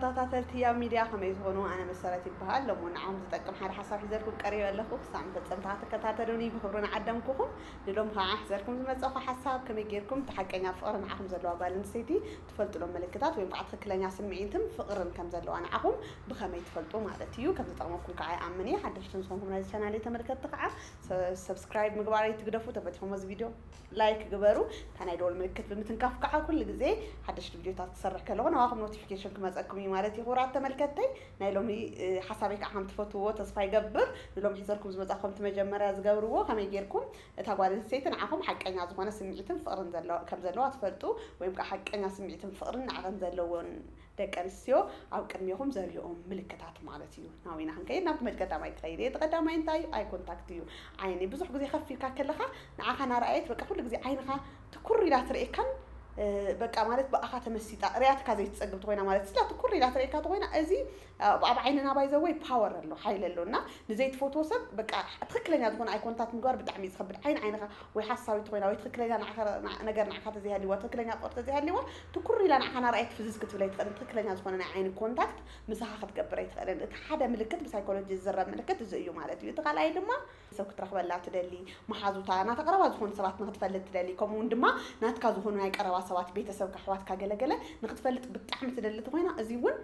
ተኸታተልቲ ያብ ሚድያ ከመይ ትኾኑ? ኣነ መሰረት ይበሃል። ሎሚ ንዓኹም ዝጠቅም ሓደ ሓሳብ ሒዘልኩም ቀሪበ ኣለኹ። ክሳብ መፈጸምታ ክትከታተሉኒ ብኽብሪ ንዓደምኩኹም። ንሎሚ ከዓ ሒዘልኩም ዝመጸኹ ሓሳብ ከመይ ጌርኩም እቲ ሓቀኛ ፍቕሪ ንዓኹም ዘለዋ ጓል ኣንስተይቲ ትፈልጥሎም ምልክታት ወይ ከዓ ትኽክለኛ ስምዒትን ፍቕርን ከም ዘለዋ ንዓኹም ብኸመይ ትፈልጡ ማለት እዩ። ከም ዝጠቕመኩም ከዓ ይኣምን እየ። ሓደሽቲ ዝኾንኩም ናይዚ ቻናል ተመልከትቲ ከዓ ሰብስክራይብ ምግባር ኣይትግደፉ። ተፈቲኹም እዚ ቪድዮ ላይክ ግበሩ። እታ ናይ ደወል ምልክት ብምትንካፍ ከዓ ኩሉ ግዜ ሓደሽቲ ቪድዮታት ክሰርሕ ከለኹ ናባኹም ኖቲፊኬሽን ክመፀኩም እዩ ማለት እዩ። ክቡራት ተመልከተይ ናይ ሎሚ ሓሳበይ ከዓ ከም ትፈትዎ ተስፋ ይገብር። ንሎም ሒዘልኩም ዝመፃ ከምቲ መጀመርያ ዝገብርዎ ከመይ ጌርኩም እታ ጓል ኣንስተይቲ ንዓኹም ሓቀኛ ዝኾነ ስምዒትን ፍቕርን ከም ዘለዋ ትፈልጡ ወይም ከዓ ሓቀኛ ስምዒትን ፍቕርን ንዓኸን ዘለዎን ደቂ ኣንስትዮ ኣብ ቅድሜኹም ዘርእኦም ምልክታት ማለት እዩ። ናዊና ክንከይድ ናብቲ መድ ቀዳማይ ክኸይድ እየ። እቲ ቀዳማይ እንታይ እዩ? ኣይ ኮንታክት እዩ። ዓይኒ ብዙሕ ግዜ ከፍ ኢልካ ከለኻ ንዓኻ ናረኣየት በቃ ኩሉ ግዜ ዓይንኻ ትኩር ኢላ ትርእየካን በቃ ማለት ብኣኻ ተመሲጣ ርያትካ ዘይትፀግብ ተኮይና ማለት ስላ ትኩር ኢላ ትርእየካ ተኮይና እዚ ኣብ ዓይንና ባይዘወይ ፓወር ኣሎ ሓይል ኣሎ እና ንዘይትፈትዎ ሰብ በቃ ትክክለኛ ዝኾነ ኣይ ኮንታክት ምግባር ብጣዕሚ እዩ ዝኸብድ። ዓይን ዓይንኻ ወይ ሓሳዊት ኮይና ወይ ትክክለኛ ነገር ንዓኻ ተዘይሃልዋ ትክክለኛ ፍቅሪ ተዘይሃልዋ ትኩር ኢላ ንዓኻ ናርኣየት ፍዝዝ ክትብል ኣይትኽእልን። ትክክለኛ ዝኾነ ናይ ዓይኒ ኮንታክት ምሳኻ ክትገብር ኣይትኽእልን። እቲ ሓደ ምልክት ብሳይኮሎጂ ዝዝረብ ምልክት እዚ እዩ ማለት እዩ። እቲ ካልኣይ ድማ ሰብ ክትረኽበላ ትደሊ፣ መሓዙታ ናታ ቀረባ ዝኾኑ ሰባት ንክትፈልጥ ትደሊ፣ ከምኡ እውን ድማ ናትካ ዝኾኑ ናይ ቀረባ ሰባት ቤተሰብካ ኣሕዋትካ ገለገለ ንክትፈልጥ ብጣዕሚ ትደሊ ተኮይና እዚ እውን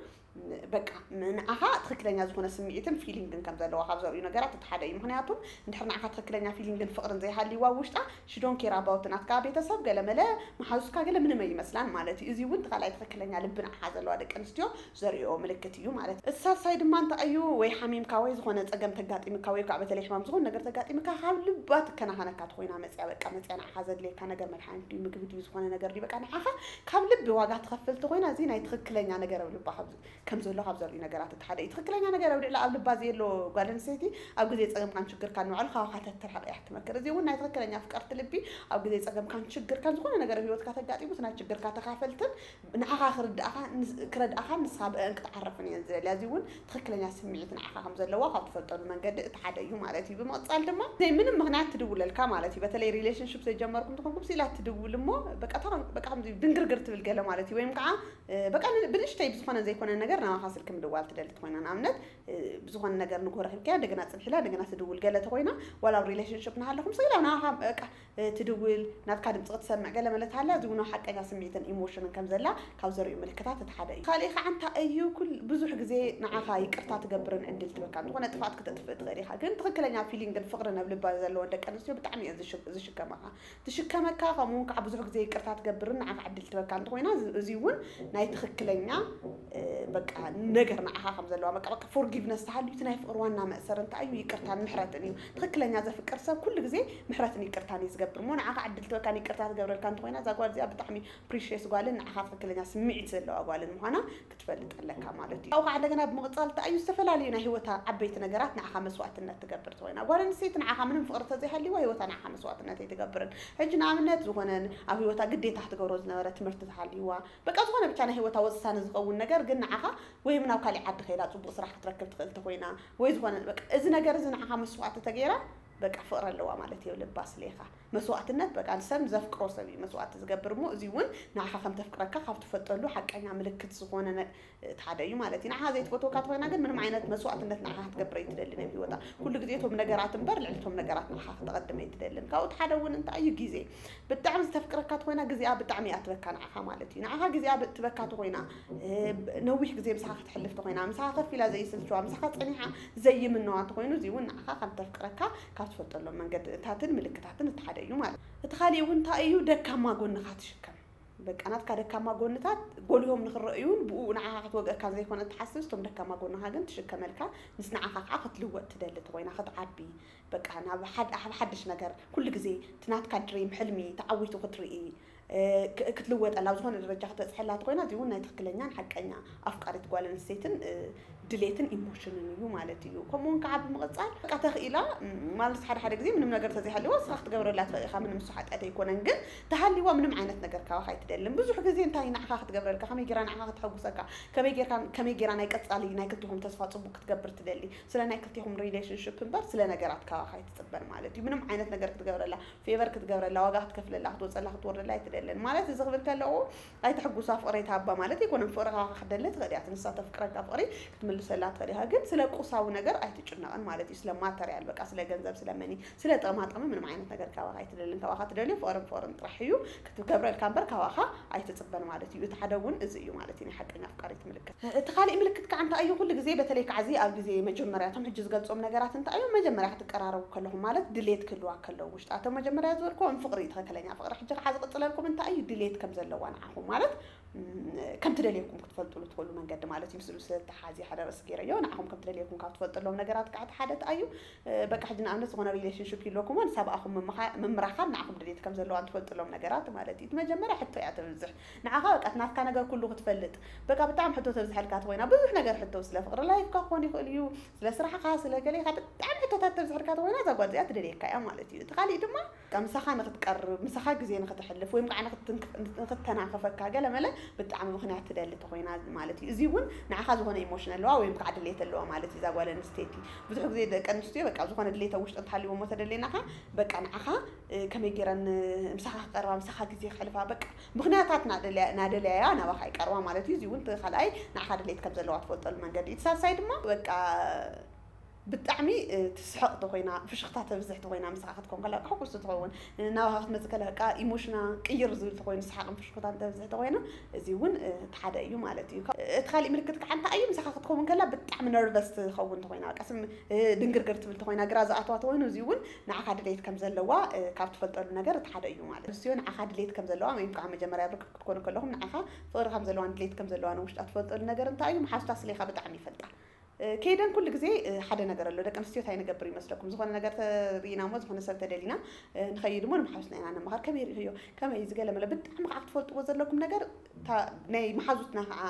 በቃ ንዓኻ ትክክለኛ ዝኾነ ስምዒትን ፊሊንግን ከም ዘለዋ ካብ ዘርእዩ ነገራት እቲ ሓደ እዩ። ምክንያቱ እንድሕር ንዓኻ ትክክለኛ ፊሊንግን ፍቅርን ዘይሃልይዋ ውሽጣ ሽዶን ኬር ኣባውት ናትካ ቤተሰብ ገለመለ መሓዙትካ ገለ ምንም ኣይመስላን ማለት እዩ። እዚ እውን ተኻላይ ትክክለኛ ልቢ ንዓኻ ዘለዋ ደቂ ኣንስትዮ ዘርእዮ ምልክት እዩ ማለት እዩ። እቲ ሳልሳይ ድማ እንታይ እዩ? ወይ ሓሚምካ ወይ ዝኾነ ፀገም ተጋጢምካ ወይ ከዓ በተለይ ሕማም ዝኾነ ነገር ተጋጢምካ ካብ ልባ ትከናኸነካ ተኮይና መፅያ በቃ መፅያ ንዓኻ ዘድልየካ ነገር መድሓኒት ድዩ ምግቢ ድዩ ዝኾነ ነገር ድዩ በቃ ንዓኻ ካብ ልቢ ዋጋ ትኸፍል ተኮይና እዚ ናይ ትክክለኛ ነገር ኣብ ልባ ከም ዘሎ ካብ ዘርእዩ ነገራት እቲ ሓደ እዩ። ትክክለኛ ነገር ኣብ ልዕሊ ኣብ ልባ ዘየሎ ጓል ኣንስተይቲ ኣብ ግዜ ፀገምካን ችግርካን ንባዕሉ ካባኻ ተትርሕቕ እያ ክትመክር። እዚ እውን ናይ ትክክለኛ ፍቅርቲ ልቢ ኣብ ግዜ ፀገምካን ችግርካን ዝኾነ ነገር ኣብ ህይወትካ ተጋጢሙ እቲ ናይ ችግርካ ተካፈልትን ንዓኻ ክርድኣኻን ክረድኣኻን ንስኻ ብእን ክትዓርፍን እየን ዝደልያ። እዚ እውን ትክክለኛ ስምዒት ንዓኻ ከም ዘለዋ ካብ ትፈልጠሉ መንገዲ እቲ ሓደ እዩ ማለት እዩ። ብምቕፃል ድማ ዘይ ምንም ምክንያት ትድውለልካ ማለት እዩ። በተለይ ሪሌሽንሽፕ ዘይጀመርኩም ተኾንኩም ስኢላ ትድውል እሞ በቃ ድንግርግር ትብል ገለ ማለት እዩ። ወይም ከዓ በቃ ብንእሽተይ ብዝኾነ ዘይኮነ ነገር ናባኻ ስልኪ ምድዋል ትደሊ ተኮይና ንኣብነት ብዝኾነ ነገር ንጎረክ ኢልካያ እንደገና ፅንሒላ እንደገና ትድውል ገለ ተኮይና ዋላ ኣብ ሪሌሽንሽፕ ናሃለኹም ስኢላ ናባኻ በቃ ትድውል ናትካ ድምፂ ክትሰምዕ ገለ መለት ሃላ እዚ እውን ሓቀኛ ስምዒትን ኢሞሽንን ከም ዘላ ካብ ዘርእዩ ምልክታት እቲ ሓደ እዩ። ካልእ ከዓ እንታይ እዩ? ኩል ብዙሕ ግዜ ንዓኻ ይቅርታ ትገብርን ዕድል ትበካ ዝኾነ ጥፋት ክተጥፍእ ትኽእል ኢኻ፣ ግን ትኽክለኛ ፊሊንግን ፍቅርን ኣብ ልባ ዘለወን ደቂ ኣንስትዮ ብጣዕሚ እየን ዝሽከማኻ ትሽከመካ ከምኡ እውን ከዓ ብዙሕ ግዜ ይቅርታ ትገብርን ንዓኻ ዕድል ትበካ እንተኮይና እዚ እውን ናይ ትክክለኛ በቃ ነገር ንዓኻ ከም ዘለዋ በቃ በቃ ፎርጊቭነስ ተሃልዩ እቲ ናይ ፍቅሪ ዋና መእሰር እንታይ እዩ? ይቅርታን ምሕረትን እዩ። ትክክለኛ ዘፍቅር ሰብ ኩሉ ግዜ ምሕረትን ይቅርታን እዩ ዝገብር እሞ ንዓኻ ዕድል ትበካን ይቅርታ ትገብረልካ እንተኮይና እዛ ጓል እዚኣ ብጣዕሚ ፕሪሽየስ ጓልን ንዓኻ ትክክለኛ ስምዒት ዘለዋ ጓልን ምዃና ክትፈልጥ ኣለካ ማለት እዩ። ካብኡ ከዓ እንደገና ብምቕፃል እንታይ እዩ? ዝተፈላለዩ ናይ ህይወታ ዓበይቲ ነገራት ንዓኻ መስዋዕትነት ትገብር ተኮይና ጓል ኣንስተይቲ ንዓኻ ምንም ፍቅሪ ተዘይሃልይዋ ህይወታ ንዓኻ መስዋዕትነት ኣይትገብርን። ሕጂ ንኣብነት ዝኾነ ኣብ ህይወታ ግዴታ ክትገብሮ ዝነበረ ትምህርቲ ተሃልይዋ በቃ ዝኾነ ብቻ ናይ ህይወታ ወሳኒ ዝኸውን ነገር ግን ንዓኻ ወይ ናብ ካሊእ ዓዲ ከይዳ ፅቡቅ ስራሕ ክትረክብ ትኽእል ተኮይና ወይ ዝኾነ በቃ እዚ ነገር እዚ ንዓኻ መስዋዕቲ ተገይራ በቃ ፍቅሪ ኣለዋ ማለት እዩ ልባ ስሌኻ መስዋዕትነት በቃ ሰብ ዘፍቅሮ ሰብ እዩ መስዋዕቲ ዝገብር እሞ እዚ እውን ንዓኻ ከም ተፍቅረካ ካብ ትፈልጠሉ ሓቀኛ ምልክት ዝኾነ እቲ ሓደ እዩ ማለት እዩ። ንዓኻ ዘይትፈትወካ ተኮይና ግን ምንም ዓይነት መስዋዕትነት ንዓኻ ክትገብር ኣይትደልን ኣብ ህይወታ። ኩሉ ግዜ እቶም ነገራት እምበር ልዕሊ እቶም ነገራት ንዓኻ ክተቐድም ኣይትደልን። ካብኡ እቲ ሓደ እውን እንታይ እዩ ግዜ። ብጣዕሚ ዝተፍቅረካ ተኮይና ግዜኣ ብጣዕሚ እያ ትበካ ንዓኻ ማለት እዩ። ንዓኻ ግዜኣ ትበካ ተኮይና ነዊሕ ግዜ ምሳኻ ክትሕልፍ ተኮይና ምሳኻ ከፍ ኢላ ዘይስልችዋ ምሳኻ ፀኒሓ ዘይምነዋ ተኮይኑ እዚ እውን ንዓኻ ከም ተፍቅረካ ካብ ትፈልጠሎም መንገድታትን ምልክታትን እቲ ሓደ እዩ ማለት እዩ። እቲ ካሊእ እውን እንታይ እዩ ደካማ ጎንኻ ትሽከም በቃ ናትካ ደካማ ጎንታት ጎሊሆም ንክረእዩን ብኡ ንዓኻ ክትወግአካን ዘይኮነ ትሓስብ እቶም ደካማ ጎንኻ ግን ትሽከመልካ ምስ ንዓኻ ከዓ ክትልወጥ ትደሊ ተኮይና ክትዓቢ በቃ ናብ ሓድሽ ነገር ኩሉ ግዜ እቲ ናትካ ድሪም ሕልሚ ተዓዊቱ ክትርኢ ክትልወጠላ ኣብ ዝኾነ ደረጃ ክትበፅሐላ ተኮይና እዚ እውን ናይ ትክክለኛን ሓቀኛ ኣፍቃሪት ጓል ኣንስተይትን ድሌትን ኢሞሽንን እዩ ማለት እዩ። ከምኡውን ከዓ ብምቕፃል በቃ ተኽኢላ ማለት ሓደ ሓደ ግዜ ምንም ነገር ተዘይሃልዋ ስኻ ክትገብረላ ትኽእል ኢኻ ምንም እሱ ሓጢኣት ኣይኮነን ግን ተሃልይዋ ምንም ዓይነት ነገር ካባኻ ኣይትደልን። ብዙሕ ግዜ እንታይ ንዓኻ ክትገብረልካ ከመይ ጌራ ንዓኻ ከተሐጉሰካ ከመይ ጌርካ ከመይ ጌራ ናይ ቀጻሊ ናይ ክልቲኹም ተስፋ ጽቡቅ ክትገብር ትደሊ። ስለ ናይ ክልቲኹም ሪሌሽንሽፕ እምበር ስለ ነገራት ካባኻ ኣይትጽበን ማለት እዩ። ምንም ዓይነት ነገር ክትገብረላ ፌቨር ክትገብረላ ዋጋ ክትከፍለላ ክትወጸላ ክትወርደላ ኣይትደሊ። የለን ማለት እዚ ክብል ከለኹ ኣይትሕጉሳ ፍቕሪ ኣይትሃባ ማለት ኣይኮነን። ፍቕሪ ካባኻ ክደሊ ትኽእል እያ። እቲ ንሳ ተፍቅረካ ፍቕሪ ክትምልሰላ ትኽእል ኢኻ። ግን ስለ ቁሳዊ ነገር ኣይትጭነቕን ማለት እዩ። ስለ ማተርያል በቃ ስለ ገንዘብ ስለ መኒ ስለ ጥቕማ ጥቕሚ ምንም ዓይነት ነገር ካባኻ ኣይትደልን። ካባኻ ትደልዮ ፍቕርን ፍቕርን ጥራሕ እዩ ክትገብረልካ እምበር ካባኻ ኣይትፅበን ማለት እዩ። እቲ ሓደ እውን እዚ እዩ ማለት እዩ ናይ ሓቀኛ ኣፍቃሪት ምልክት። እቲ ካሊእ ምልክት ከዓ እንታይ እዩ? ኩሉ ግዜ በተለይ ከዓ እዚ ኣብ ግዜ መጀመርያ እቶም ሕጂ ዝገልፆም ነገራት እንታይ እዮም? መጀመርያ ክትቀራረቡ ከለኹም ማለት ድሌት ክህልዋ ከለዉ ውሽጣ እቶም መጀመርያ ዝበልኩዎም ፍቕሪ ትኽክለኛ ፍቕሪ ሕጂ ከዓ ዝቕፅለልኩም እንታይ እዩ? ድሌት ከም ዘለዋ ንዓኹም ማለት ከም ትደልየኩም ክትፈልጥሉ ትኽእሉ መንገዲ ማለት እዩ። ምስሉ ዝተሓዚ ሓደ ርእሲ ገይረዮ ንዓኹም ከም ትደልየኩም ካብ ትፈልጥሎም ነገራት ከዓ እቲ ሓደ እንታይ እዩ? በቃ ሕጂ ንኣብነት ዝኾነ ሪሌሽንሽፕ ይለኩም ንሳብ ኣኹም ምምራኻን ንዓኹም ድሌት ከም ዘለዋ ትፈልጥሎም ነገራት ማለት እዩ። እቲ መጀመርያ ሕቶ እያ ተብዝሕ ንዓኻ በቃ ናትካ ነገር ኩሉ ክትፈልጥ በቃ ብጣዕሚ ሕቶ ተብዝሐልካ ተኮይና ብዙሕ ነገር ሕቶ ስለ ፍቕሪ ላይፍካ ክኾን ይኽእል እዩ፣ ስለ ስራሕኻ ስለ ገሌኻ ብጣዕሚ ሕቶታት ተብዝሐልካ ተኮይና እዛ ጓል እዚኣ ትደልየካ እያ ማለት እዩ። እቲ ካሊእ ድማ በቃ ምሳኻ ንክትቀርብ ምሳኻ ግዜ ንክትሕልፍ ወይም ከዓ ንክትተናኸፈካ ገለመለ ብጣዕሚ ምክንያት ትደሊ ተኮይና ማለት እዩ። እዚ እውን ንዓኻ ዝኾነ ኢሞሽን ኣለዋ ወይም ከዓ ድሌት ኣለዋ ማለት እዩ። እዛ ጓል ኣንስተይቲ ብዙሕ ግዜ ደቂ ኣንስትዮ በቃ ዝኾነ ድሌት ኣብ ውሽጢ እንተሃልዎ እሞ ተደሌናኻ በቃ ንዓኻ ከመይ ገይረን ምሳኻ ክቀርባ ምሳኻ ግዜ ክሕልፋ በቃ ምክንያታት ናደለያያ ናባኻ ይቀርባ ማለት እዩ። እዚ እውን እቲ ካልኣይ ንዓኻ ድሌት ከም ዘለዋ ትፈልጠሉ መንገዲ እዩ። እቲ ሳልሳይ ድማ በቃ ብጣዕሚ ትስሕቕ ተኮይና ፍሽኽታ ተብዝሕ ተኮይና ምሳኻ ክትኮን ከላ ሕጉስ ትኸውን ናባኻ ክትመፅእ ከላ በቃ ኢሞሽና ቅይር ዝብል ተኮይኑ ሰሓቕን ፍሽኽታን ተብዝሕ ተኮይና እዚ እውን እቲ ሓደ እዩ ማለት እዩ። እቲ ካሊእ ምልክት ከዓ እንታይ እዩ? ምሳኻ ክትከውን ከላ ብጣዕሚ ነርቨስ ትኸውን ተኮይና በቃ ስም ድንግርግር ትብል ተኮይና ግራ ዝኣትዋ ተኮይኑ እዚ እውን ንዓኻ ድሌት ከም ዘለዋ ካብ ትፈልጠሉ ነገር እቲ ሓደ እዩ ማለት እዩ። ንዓኻ ድሌት ከም ዘለዋ ወይም ከዓ መጀመርያ ርክብ ክትኮኑ ከለኹም ንዓኻ ፍቕሪ ከም ዘለዋን ድሌት ከም ዘለዋን ውሽጣ ትፈልጠሉ ነገር እንታይ እዩ? መሓዙታ ስሌኻ ብጣዕሚ ይፈልጣ። ከይደን ኩሉ ግዜ ሓደ ነገር ኣሎ። ደቂ ኣንስትዮ እንታይ ንገብር ይመስለኩም? ዝኾነ ነገር ተሪኢና እሞ ዝኾነ ሰብ ተደሊና ንኸይድ እሞ ንመሓዙትና ኢና ነማኸር። ከመይ ርኢኽዮ? ከመይ ዝገለ መለ ብጣዕሚ ከዓ ክትፈልጥዎ ዘለኩም ነገር ናይ መሓዙትና ከዓ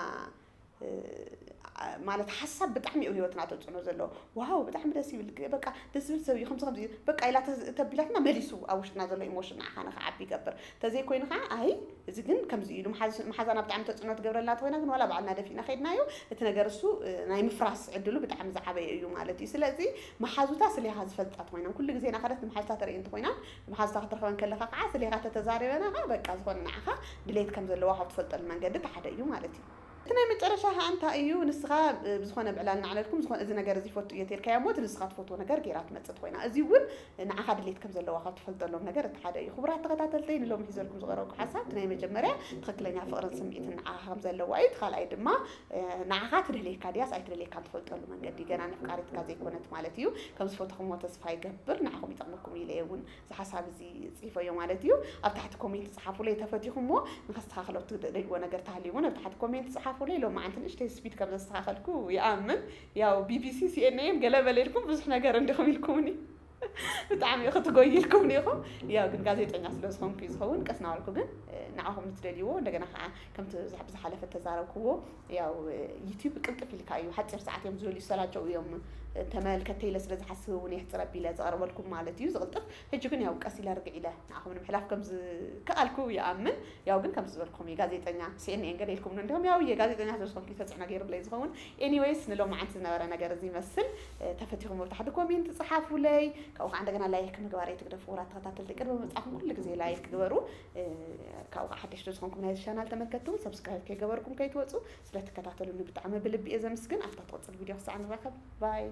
ማለት ሓሳብ ብጣዕሚ እዩ ህይወትና ተፅዕኖ ዘለዎ። ዋው ብጣዕሚ ደስ ይብል በቃ ደስ ዝብል ሰብ እዩ ከምዚ ከምዚ በቃ ኢላ ተቢላትና መሊሱ ኣብ ውሽጥና ዘሎ ኢሞሽን ንዓኻ ንክዓቢ ይገብር። ተዘይኮይኑ ከዓ ኣይ እዚ ግን ከምዚ ኢሉ መሓዛና ብጣዕሚ ተፅዕኖ ትገብረልና ተኮይና ግን ዋላ ባዕልና ደፊእና ከይድናዮ እቲ ነገር እሱ ናይ ምፍራስ ዕድሉ ብጣዕሚ ዝዓበየ እዩ ማለት እዩ። ስለዚ መሓዙታ ስሌኻ ዝፈልጣ ተኮይና ኩሉ ግዜ ናኸደት ንመሓዙታ ተርኢ እንተኮይና መሓዙታ ክትረኸበን ከለካ ከዓ ስሌኻ ተተዛሪበና ከዓ በቃ ዝኾነ ንዓኻ ድሌት ከም ዘለዋ ካብ ትፈልጠሉ መንገዲ እቲ ሓደ እዩ ማለት እዩ። እቲ ናይ መጨረሻ ከዓ እንታይ እዩ ንስኻ ብዝኾነ ብዕላል ናዕለልኩም ዝኾነ እዚ ነገር እዚ ይፈቱ እየ ተልካዮ እሞ እቲ ንስኻ ትፈትዎ ነገር ገይራ ትመፅእ ኮይና እዚ እውን ንዓኻ ድሌት ከም ዘለዋ ካብ ትፈልጠሎም ነገር እቲ ሓደ እዩ። ክቡራት ተኸታተልተይ ንሎም ሒዘልኩም ዝቐረብኩ ሓሳብ እቲ ናይ መጀመርያ ትኽክለኛ ፍቕርን ስምዒትን ንዓኻ ከም ዘለዋ እዩ። እቲ ካልኣይ ድማ ንዓኻ ትደልየካ ድያስ ኣይትደልየካ ትፈልጠሉ መንገዲ ገና ነፍቃሪትካ ዘይኮነት ማለት እዩ። ከም ዝፈተኹሞ ተስፋ ይገብር ንዓኹም ይጠቕመኩም ኢለ እውን እዚ ሓሳብ እዚ ፅሒፈዮ ማለት እዩ። ኣብ ታሕቲ ኮሜንት ፀሓፉለይ ተፈቲኹሞ ንኸስተኻኸሎ ትደልይዎ ነገር ተሃልዩ እውን ኣብ ታሕቲ ኮሜንት ፀሓፉለይ። ሎማዓንቲ ንእሽተይ ስፒድ ከም ዘስተኻኸልኩ ይኣምን። ያው ቢቢሲ ሲኤንኤን ገለ በለ ኢልኩም ብዙሕ ነገር እንዲኹም ኢልኩምኒ ብጣዕሚ ክትጎይ ኢልኩም ኢኹም። ያው ግን ጋዜጠኛ ስለ ዝኾንኩ እዩ ዝኸውን ቀስ ናበልኩ ግን ንዓኹም ንትደልይዎ እንደገና ከዓ ከምቲ ዝሓለፈ ተዛረብክዎ ያው ዩቲዩብ ቅልጥፍ ኢልካ እዩ ሓፂር ሰዓት እዮም ዝደልዩ ዝሰላቸው እዮም። ተመልከተይ ኢለ ስለ ዝሓስብ እውን የሕፅር ኣቢለ ዘቕርበልኩም ማለት እዩ ዝቕልጥፍ። ሕጂ ግን ያው ቀስ ኢለ ርግዕ ኢለ ንዓኹም ንምሕላፍ ከም ዝከኣልኩ ይኣምን። ያው ግን ከም ዝበልኩም እዩ ጋዜጠኛ ሲኤንኤን ገለ ኢልኩም እንዲሁም ያው እየ ጋዜጠኛ ስለ ዝኾንኩ ተፅዕኖ ገይሩለይ ዝኸውን። ኤኒዌይስ ንሎማዓንቲ ዝነበረ ነገር እዚ ይመስል። ተፈቲኹም ኣብ ታሕቲ ኮሜንት ፀሓፉለይ። ካብኡ ከዓ እንደገና ላይክ ምግባር ኣይትግደፉ። ክቡራት ተኸታተልቲ ቅድሚ ምብፃኹም ኩሉ ግዜ ላይክ ግበሩ። ካብኡ ከዓ ሓደሽቲ ዝኾንኩም ናይዚ ቻናል ተመልከትቲ እውን ሰብስክራይብ ከይገበርኩም ከይትወፁ። ስለትከታተሉኒ ብጣዕሚ ብልቢ እየ ዘምስግን። ኣብታ ትቕፅል ቪድዮ ክሳዕ ንራኸብ ባይ።